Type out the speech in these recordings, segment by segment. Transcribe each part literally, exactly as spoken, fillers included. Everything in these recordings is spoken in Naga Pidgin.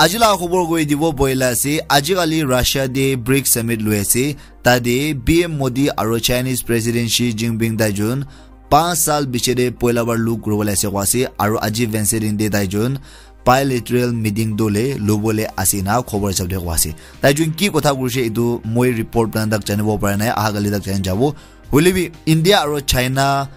Aji laga khobor koi dibo boila ase, aji kali Russia te brics summit loi ase, tate P M Modi aro Chinese President Xi Jinping taijun panch saal piche te poila bar log kuribole ase koi ase, aro aji Wednesday din te taijun bilateral meeting tu le lobole ase na khobor hisab te koi ase. Taijun ki kotha koise etu moi report bana tak janibo para nai, aha kali tak jani jabo. Hoile bi India aro China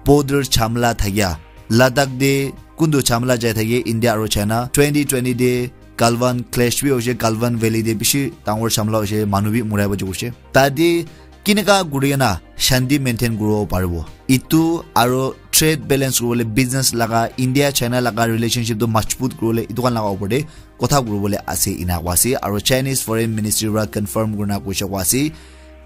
border chamla thakia, Ladakh te kuntu chamla jai thake India aro China, twenty twenty te Galwan clash bi hoise, Galwan Valley te bishi dangor chamla hoise, manu bi murai bo hoise. Tate kineka kuri kena shanti maintain kuribo paribo, etu aro trade balance kuribole, business laga, India China laga relationship tu majbut kuribole, etu khan laga opor te kotha kuribole ase ena koi ase. Aro Chinese Foreign Ministry para confirm kurina koise koi ase,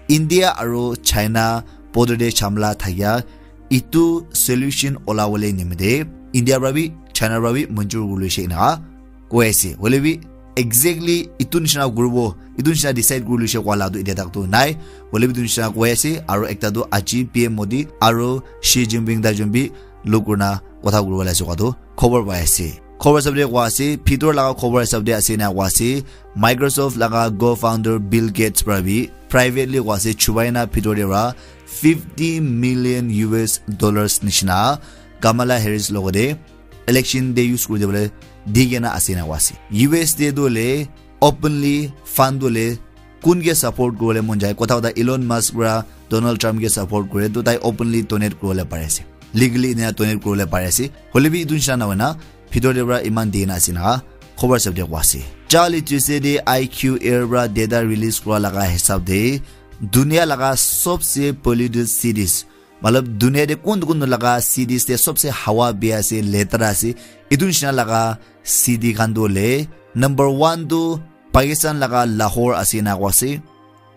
India aro China border te chamla thakia etu solution olabole nimite India para bi China para bi manjur kuri loise ena koi ase. Hoile bi exactly etu nishina kuribo, etu nishina decide kuri loise koa la tu etia tak tu nai. Hoile bi etu nishina koi ase, aro ekta tu aji P M Modi aro Xi Jinping taijun bi log kurina kotha kuribole ase koa tu khobor pai ase. Khobor hisab te koi ase, bhitor laga khobor hisab te ase na koi ase, Microsoft laga co-founder Bill Gates para bi privately koi ase, chubai na bhitor te para fifty million U S dollars nishina Kamala Harris logote election te use kuri dibole di kena ase na koi ase. U S te tu le openly fund tu le kun ke support kuribole mon jai, kotha kotha Elon Musk para Donald Trump ke support kure, to tai openly donate kuribole pari ase, legally ena donate kuribole pari ase. Hoile bi etu nishina na hoina bhitor te para iman di na ase na khobor hisab te koi ase. Charlie Tuesday te I Q Air para data release kura laga hisab te dunia laga sobse polluted cities, matlab dunia te kun kun laga cities te sobse hawa bia ase, letara ase, etu nishina laga city khan tu le number one tu Pakistan laga Lahore ase na koi ase.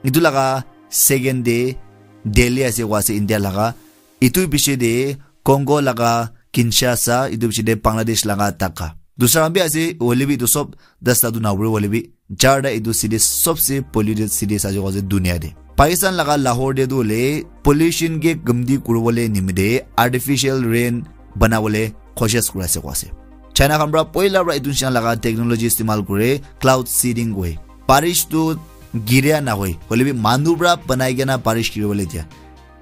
Etu laga second te Delhi ase koi ase India laga. Etu piche te Congo laga Kinshasa, etu piche te Bangladesh laga Dhaka. Dusra khan bi ase, hoile bi etu sob dasta tu na pure, hoile bi charta etu city sobse polluted city ase koi ase dunia te. Pakistan laga Lahore te tu hoile pollution ke kamti kuribole nimite artificial rain banabole koshish kuri ase koi ase. China khan para poila para etu nishina laga technology istemal kure, cloud seeding koi. Barish tu giria na hoi, hoile bi manu para banai kena barish giribole dia.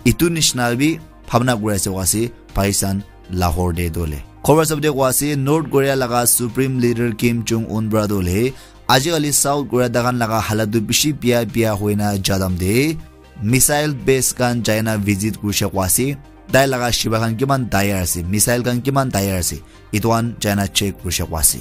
Etu nishina bi bhabna kuri ase koi ase Pakistan Lahore te tu le. Khobor hisab te koi ase North Korea laga Supreme Leader Kim Jong Un para tu le aji kali South Korea taikhan laga halat tu bishi bia bia hoina jadam te missile base khan jaina visit kurishe koi ase. Tai laga shiba khan kiman tayar ase, missile khan kiman tayar ase, etu khan jaina check kurishe koi ase.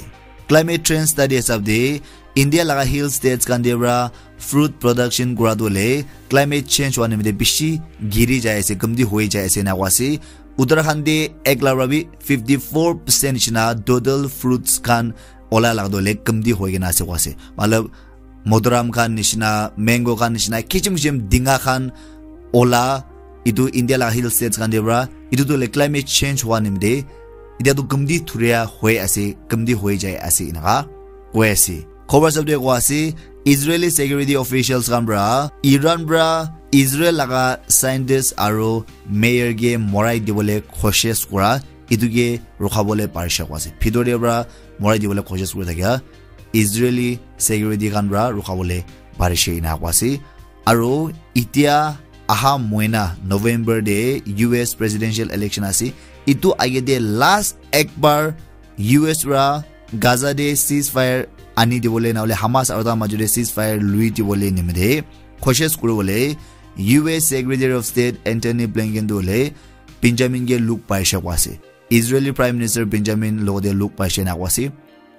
Climate change study hisab te India laga hill states khan te para fruit production kura tu le climate change hua nimite bishi giri jai ase, kamti hoi jai ase na koi ase. Uttarakhand te ek lakh para bi fifty four percent nishina total fruits khan ola laga tu le kamti hoi kena ase koi ase. Matlab Modaram khan nishina, mango khan nishina, kichim kichim dinga khan ola, etu India laga hill states khan te para, etu tu le climate change hua nimite, etia tu kamti thuria hoi ase, kamti hoi jai ase, enaka koi ase. Khobor hisab te koi ase, Israeli security officials khan para, Iran para Israel laga scientist aro mayor ke morai dibole koshish kura, etu ke rukhabole parishe koi ase. Bhitor te para morai dibole koshish kuri thakia, Israeli security khan para rukhabole parishe ena koi ase. Aro etia aha moina November te U S presidential election ase. Etu age te last ek bar U S para Gaza te ceasefire ani dibole na hole Hamas aro ta majo te ceasefire lui dibole nimite koshish kuribole U S Secretary of State Antony Blinken tu hole Benjamin ke log paishe koi ase. Israeli Prime Minister Benjamin logote log paishe na koi ase.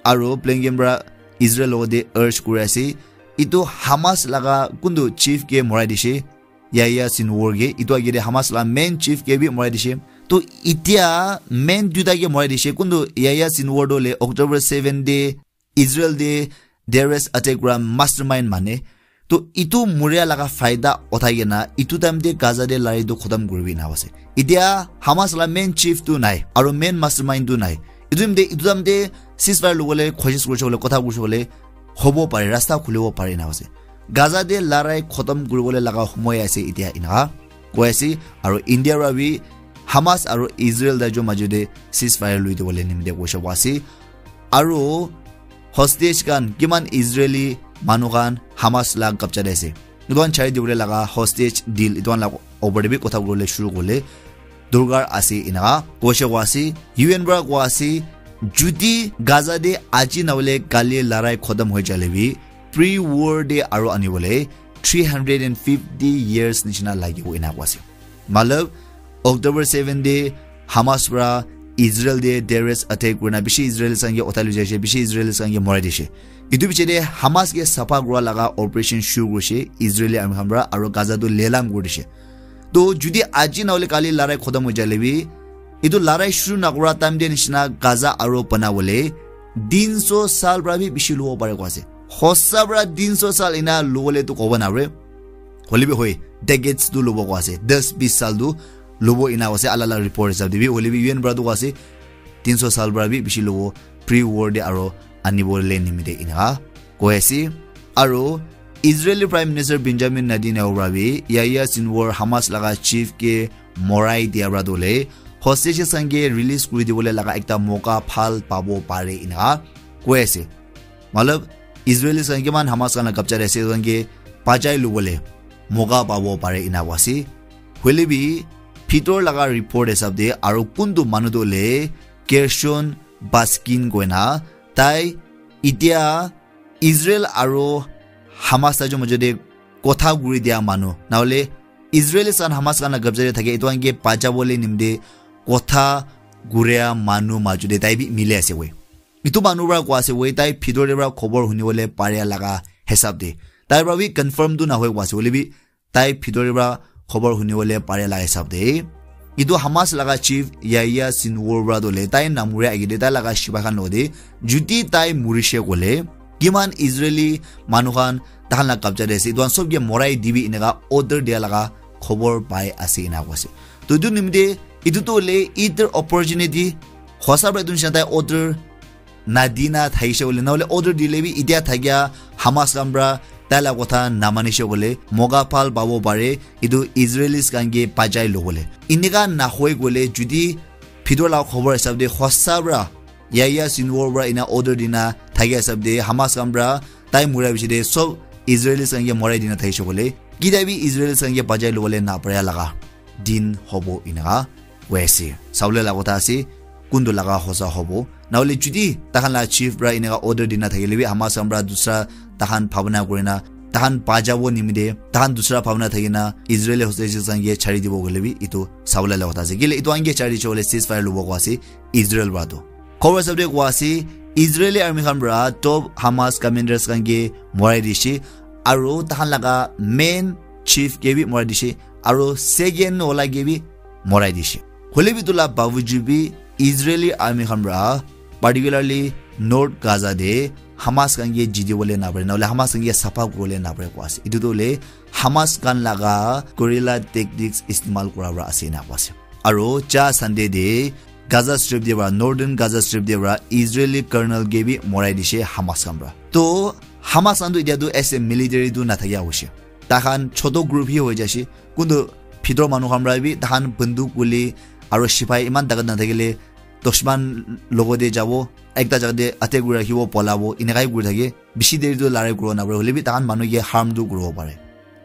Aro Blinken para Israel logote urge kuri ase, etu Hamas laga kuntu chief ke morai dishe, Yahya Sinwar ke, etu age te Hamas la main chief ke bi morai dishe. To etia main duita ke morai dishe, kuntu Yahya Sinwar tu le October seven te Israel te terrorist attack kura mastermind mane. To etu moria laga faida uthai kena etu time te Gaza te larai tu khotom kuribi na ase. Etia Hamas la main chief tu nai, aro main mastermind tu nai. Etu time te, etu time te ceasefire lobole koshish kurishe kole, kotha kurishe kole hobo pare, rasta khulibo pare na ase. Gaza te larai khotom kuribole laga homoy ase etia, enaka koi ase. Aro India para bi Hamas aro Israel daijon majo te ceasefire lui dibole nimite koishe koi ase. Aro hostage khan kiman Israeli manu khan Hamas la kabja te ase. Etu khan chari dibole laga hostage deal etu khan la opor te bi kotha kuribole shuru kuribole dorkar ase enika koise koa ase. U N para koa ase, judi Gaza te aji nahole kali larai khotom hoi jale bi pre-war te aro anibole three hundred and fifty years nishina lagibo enika koa ase. Matlab, October seven te Hamas para Israel te terrorist attack kurina bishi Israelis khan ke uthai loi jaise, bishi Israelis khan ke morai dise. Etu piche te Hamas ke sapha kura laga operation shuru kurise Israeli army khan para, aro Gaza tu lelam kuri dise. To judi aji nahole kali larai khotom hoi jale bi, etu larai shuru nakura time te nishina Gaza aro banabole tin so sal para bi bishi lobo pare koa ase. Hosa para tin so sal ena lobole tu kobo napare. Hoile bi hoi, decades tu lobo koa ase. Das bis sal tu lobo ena koa ase, alak alak report hisab te bi. Hoile bi U N para tu koa ase, tin so sal para bi bishi lobo, pre-war te aro anibole nimite enika koi ase. Aro Israeli Prime Minister Benjamin Netanyahu para bi Yahya Sinwar Hamas laga chief ke morai dia para tu hoile hostages khan ke release kuri dibole laga ekta moka bhal pabo pare enika koi ase. Matlab, Israelis khan kiman Hamas khan la kabja te ase, etu khan ke bachai lobole moka pabo pare enika koa ase. Hoile bi, bhitor laga report hisab te aro kuntu manu tu hoile Gershon Baskin koina, tai itia Israel aro Hamas la majo te kotha kuri dia manu, nahole Israelis khan Hamas khan la kabja te thake, etu khan ke bachabole nimite kotha kuria manu majo te tai bi mili ase we. Etu manu para koa ase we, tai bhitor te para khobor hunibole paria laga hisab te. Tai para bi confirm tu nahoi koa ase, hoile bi tai bhitor te para khobor hunibole paria laga hisab te. Etu Hamas laga chief Yahya Sinwar para tu hoile tai namuria age te tai laga sipai khan logote judi tai murise koile kiman Israeli manu khan tahan la kabja te ase, etu khan sob ke morai dibi enika order dia laga khobor pai ase enika koa ase. To etu nimite etu tu hoile either opportunity, hosa para etu nishina tai order nadina thakise koile, nahole order dile bi itia thakia Hamas khan para tai la kotha namanise koile, moka bhal pabo pare, etu Israelis khan ke bachai lobole. Enika nahoi koile, judi bhitor la khobor hisab te hosa para Yahya Sinwar para ena order dina thakia hisab te Hamas khan para tai muria piche te sob Israelis khan ke morai dina thakise koile, kitia bi Israelis khan ke bachai lobole naparia laga din hobo enika koi ase. Sabole la kotha ase, kuntu laga hosa hobo. Nahole judi tahan la chief para enika order dina thakile bi Hamas khan para dusra tahan bhabna kurina, tahan bachabo nimite, tahan dusra bhabna thakina, Israeli hostages khan ke chari dibo koile bi etu sabole la kotha ase. Kile etu khan ke chari chole ceasefire lobo koa ase Israel para tu. Khobor hisab te koa ase, Israeli army khan para top Hamas commanders khan ke morai dise, aro tahan laga main chief ke bi morai dise, aro second wala ke bi morai dise. Hoile bi etu la bawajud bi Israeli army khan para, particularly North Gaza te Hamas khan ke jitibole napare, nahole Hamas khan ke sapha kuribole napare koa ase. Etu tu hoile Hamas khan laga guerrilla tactics istemal kura para ase enika koa ase. Aro ja Sunday te Gaza Strip te para, Northern Gaza Strip te para Israeli colonel ke bi morai dise Hamas khan para. To Hamas khan tu itia tu as a military tu nathakia hoise. Tahan choto group hi hoi jaise. Kuntu bhitor manu khan para bi tahan banduk guli aro sipai iman takat nathakile dushman logote jabo, ekta jaga te attack kuri rakhibo, polabo, enakai kuri thake. Bishi deri tu larai kuribo napare, hoile bi tahan manu ke harm tu kuribo pare.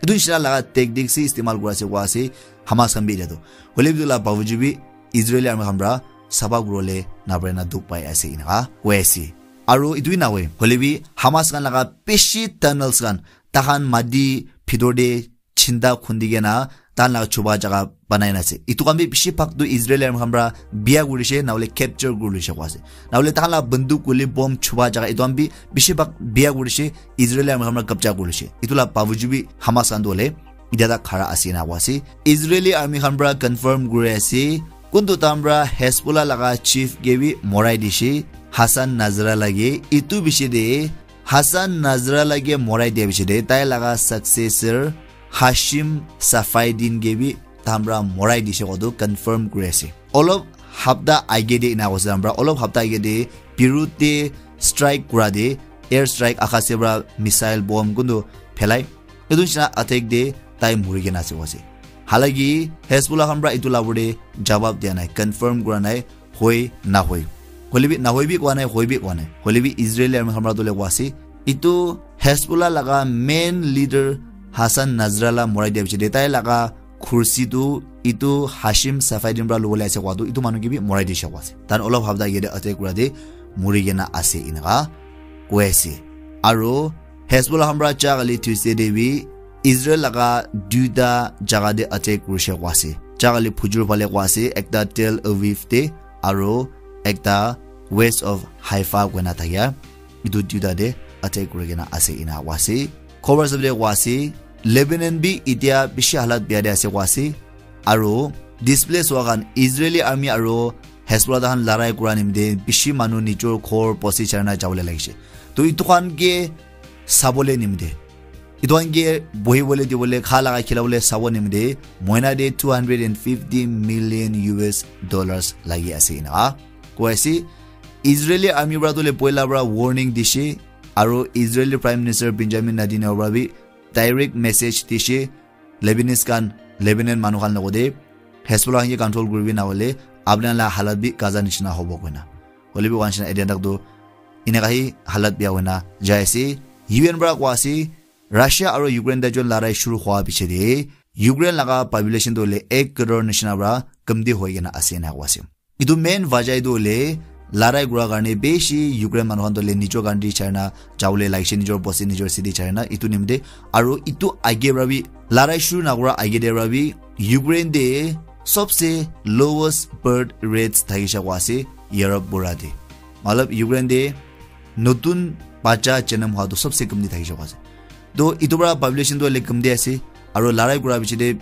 Etu nishina laga tactics hi istemal kuri ase koa ase Hamas khan bi etia tu. Hoile bi etu la bawajud bi Israeli army khan para sapha kuribole napare na dukh pai ase enika koi ase. Aro etu hi nahoi, hoile bi Hamas khan laga bishi tunnels khan tahan mati bhitor te chinda khundi kena tahan laga chuba jaga banai na ase. Etu khan bi bishi bhag tu Israeli army khan para bia kurise, nahole capture kuri loise koa ase. Nahole tahan la banduk guli bomb chuba jaga etu khan bi bishi bhag bia kurise, Israeli army khan para kabja kuri loise. Etu la bawajud bi Hamas khan tu hoile itia tak khara ase enika koa ase. Israeli army khan para confirm kuri ase, kuntu tahan para Hezbollah laga chief ke bi morai dise, Hassan Nasrallah ke. Etu piche te Hassan Nasrallah ke morai dia piche te tai laga successor Hashim Safieddine ke bi tahan para morai dise koa tu confirm kuri ase. Olop hapta age te enika koise tahan para, olop hapta age te Beirut te strike kura te, air strike, akase para missile bomb kuntu phelai, etu nishina attack te tai muri kena ase koa ase. Halaki Hezbollah khan para etu la opor te jawab dia nai, confirm kura nai, hoi nahoi. Hoilebi nahoi bi koa nai, hoi bi koa nai. Hoilebi Israeli army khan para tu le koa ase. Itu Hezbollah laga main leader Hassan Nasrallah morai dia piche de tai laga khursi tu itu Hashim Safieddine para lobole ase koa tu itu manu ke bi morai dishe koa ase. Tan olop hapta yate attack kura de muri kena ase inaka koi ase. Aro Hezbollah khan para cha kali Tuesday de bi Israel laga duita jaga de attack kurishe koa ase. Cha kali phujur phale koa ase, ekta Tel Aviv de aro ekta west of Haifa koina thakia itu duita de attack kuri kena ase ina koa ase. Khobor sabde koa ase, Lebanon bi itia bishi halat bia de ase koa ase. Aro displace hua khan Israeli army aro Hezbollah khan larai kura nimite bishi manu nijor ghor bosti charina jabole lagise. To itu khan ke sabole nimite, itu khan ke bohibole dibole, kha laga khilabole sabo nimite moina de two hundred and fifty million U S dollars lagi ase ina koi ase. Israeli army para tu le poila para warning dishe, aro Israeli Prime Minister Benjamin Netanyahu para bi direct message dishe Lebanese khan, Lebanon manu khan logote Hezbollah khan ke control kuribi nahole apna la halat bi Gaza nishina hobo koina. Hoilebi koa nishina etia tak tu inaka hi halat bia hoina jai ase. U N para koa ase, Russia aro Ukraine te jon larai shuru hua piche de Ukraine laga population tu le ek crore nishina para kamti hoi kena ase ina koa ase. Itu main wajah itu hoile larai kura karne bishi Ukraine manu khan toh le nijor country charina jabole lagise, nijor bosti, nijor city charina itu nimite. Aro itu age para bi larai shuru nakura age de para bi Ukraine de sobse lowest birth rates thakishe koa ase Europe pura de. Matlab Ukraine de notun bacha janam hua tu sobse kamti thakishe koa ase. To itu para population tu hoile kamti ase, aro larai kura piche de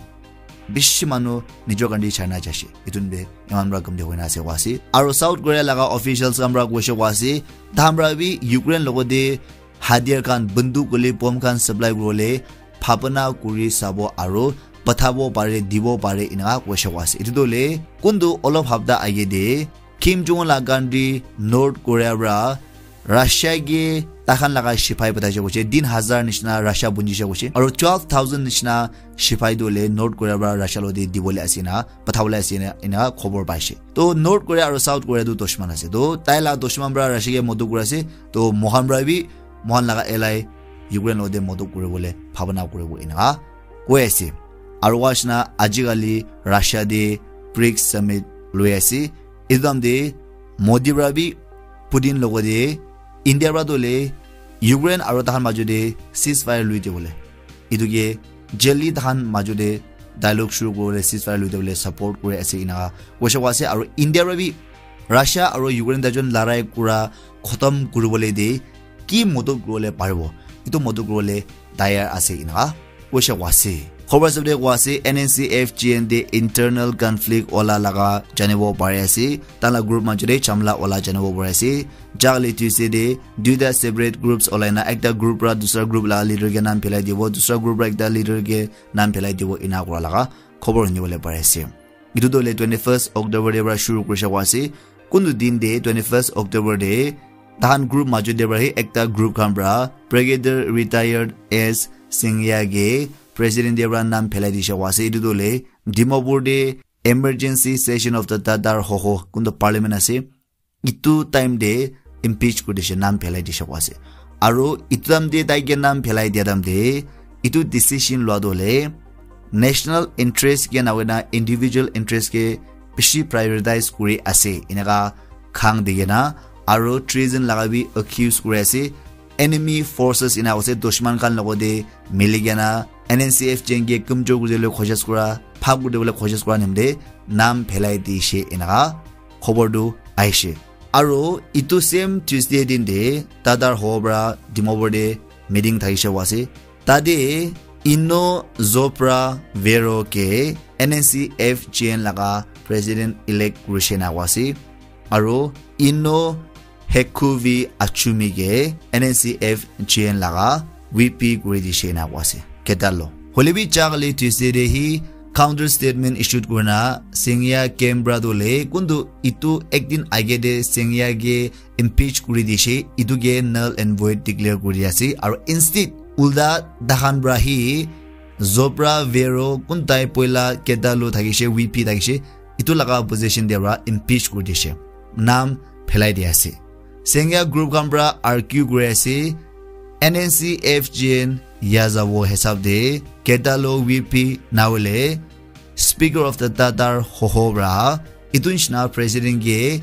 bishi manu nijor country charina jaise. Itu nimite iman para kamti hoina ase koa ase. Aro South Korea laga officials khan para koishe koa ase, tahan para bi Ukraine logote hatiar khan, banduk hoile bomb khan supply kuribole bhabana kuri sabo aro pathabo pare, dibo pare inaka koishe koa ase. Itu tu hoile kuntu olop hapta age de Kim Jong Un la country North Korea para Russia ke takhan laga sipai pathaise koise, tin hazar nishina Russia bunjise koise, aro twelve thousand nishina sipai tu hoile North Korea para Russia logote dibole ase na, pathabole ase na, ina khobor paise. To North Korea aro South Korea tu dushman ase. To tai la dushman para Russia ke modot kuri ase. To mohan para bi mohan laga ally Ukraine logote modot kuribole bhabana kuribo inaka koi ase. Aro koa nishina ajikali Russia de brics summit loi ase. Itu time de Modi para bi Putin logote India para tu hoile Ukraine aro tahan majo de ceasefire lui dibole, itu ke jaldi tahan majo de dialogue shuru kuribole, ceasefire lui dibole support kuri ase inaka koishe koa ase. Aro India para bi Russia aro Ukraine tajon larai kura khotom kuribole de ki modot kuribole paribo, itu modot kuribole tayar ase inaka koishe koa ase. Khobor sabde koa ase, N N C F G N de internal conflict ola laga janibo pari ase. Tahan la group majo de chamla ola janibo pari ase. Jagale Tuesday de duita separate groups olai na ekta group para dusra group laga leader ke naam phelai dibo, dusra group para ekta leader ke naam phelai dibo, ina kura laga khobor hunibole pari ase. Itu tu hoile twenty first October de para shuru kurishe koa ase. Kuntu din de twenty first October de tahan group majo de para hi ekta group khan para Brigadier Retired S Singya ke president de para naam phelai dishe koa ase. Itu tu hoile Dimapur de emergency session of the Tatar Hoho, kuntu parliament ase, itu time de impeach kuri dishe, naam phelai dishe koa ase. Aro itu time de tai ke naam phelai dia time de itu decision lua tu hoile national interest ke na hoina individual interest ke bishi prioritize kuri ase inaka khang dikena, aro treason laga bi accuse kuri ase. Enemy forces ina ase, dushman khan logote mili kena N N C F G N ke kamjor kuri dibole koshish kura, bhag kuri dibole koshish kura nimite naam phelai dishe inaka khobor tu ahishe. Aro itu same Tuesday din te Tatar Hoho para Dimapur te meeting thakishe koa ase. Tate Ino Zopra Vero ke N N C F G N laga president elect kurishe na koa ase. Aro Ino Hekuvi Achumi ke N N C F G N laga V P kuri dishe na koa ase. Keta lo. Hoile bi jagale Tuesday te hi counter statement issued kurina Singya camp pra tu le kuntu itu ek din age te Singya ke impeach kuri dishe, itu ke null and void declare kuri ase. Aro instead ulta tahan pra hi Zopra Vero kun tai poila keta lo thakishe, V P thakishe, itu laga position te pra impeach kuri dishe. Naam phelai di ase. Sengya group khan pra argue kuri ase, N N C F G N yajabo hisab de Ketalo V P nawale Speaker of the Tatar Hoho pra itu nishina president ke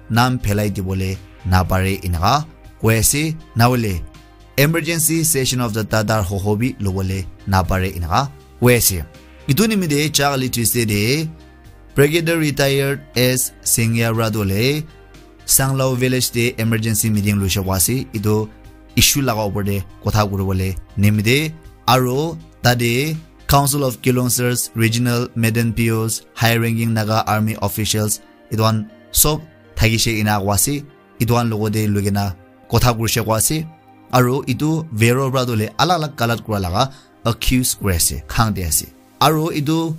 nam phelai dibole napare inaka koi ase, nawale emergency session of the Tatar Hoho bi lobole napare inaka koi ase. Itu nimite chakali Tuesday de Brigadier Retired S Sengya pra dole Sanglao village de emergency meeting loishe kwa ase. Itu issue laga upor de kotha kuribole nimite aro tade Council of Kilongser's regional maiden P Os, high ranking Naga army officials, itu khan sob thakishe ina kwa ase. Itu khan logote lugena kotha kurishe kwa ase. Aro itu Vero pra dole alag alag galat kura laga accuse kuri ase, khang de ase. Aro itu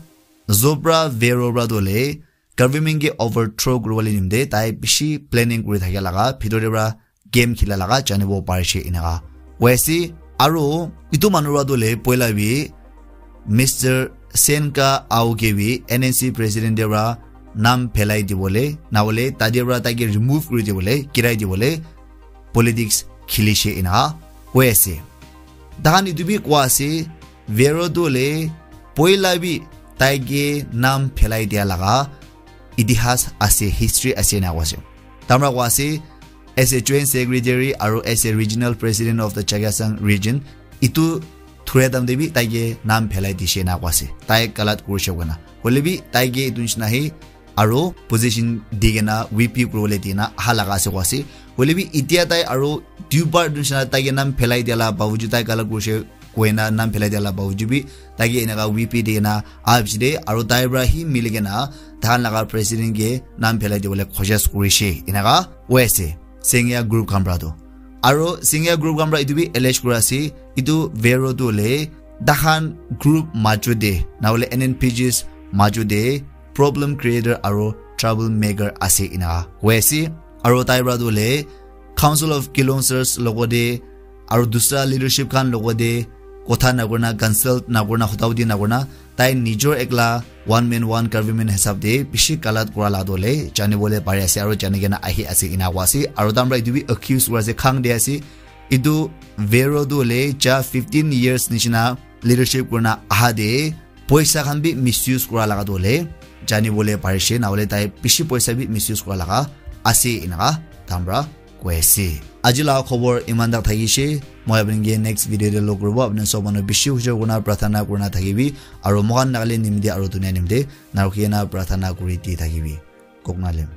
Zobra Vero pra dole government ke overthrow kuribole nimite tai bishi planning kuri thaka laga, bhitor de pra game khila laga janibo parishe inaka koi ase. Aro itu manu pra dole poila bi Mister Senka Ao ke bi N N C president de pra nam phelai dibole, nawale tade pra taike remove kuri dibole, kirai dibole politics khilishe inaka koi ase. Tahan itu bi koi ase, Vero dole poila bi taike nam phelai dia laga itihas ase, history ase na koi ase. Tamra koi ase, as a joint secretary aro as a regional president of the Chakhesang region, itu thura time de bi taike nam phelai dishe na koi ase. Tai galat kurishe koina. Hoile bi taike itu nishina hi aro position di kena V P kuribole di kena aha laga ase koi ase. Hoile bi itia tai aro duibar itu nishina taike nam phelai dia la bawujud, tai galat kurishe koina nam phelai dia la bawujud bi taike enaka V P di kena aha bishi de aro tai pra hi mili kena tahan laga president ke nam phelai dibole koshis kurishe inaka koi ase Sengya group khan pra tu. Aro Sengya group khan pra itu bi allege kura ase, itu Vero tu hole tahan group majo de, nawale N N P Gs majo de problem creator aro trouble maker ase inaka koi ase. Aro tai pra tu hole Council of Kilongser's logote aro dusra leadership khan logote kotha nakurina, consult nakurina, hotauti nakurina, tai nijor ekla one man one government hisab de bishi galat kura la dole janibole pari ase aro jani kena ahi ase ina koi ase. Aro tamra itu bi accuse kura ase, khang de ase. Itu Vero tu hole ja fifteen years nishina leadership kurina aha de poisa khan bi misuse kura laga tu hole janibole parishe, nawale tai bishi poisa bi misuse kura laga ase inaka tamra koi ase. Aji laga khobor iman tak thakishe. Moi apni ke next video de log kuribo. Apni sob manu bishi hujor kurina prarthana kurina thakibi. Aro moikhan Nagaland nimite aro dunia nimite narukhi kena prarthana kuri di thakibi. Koknalem.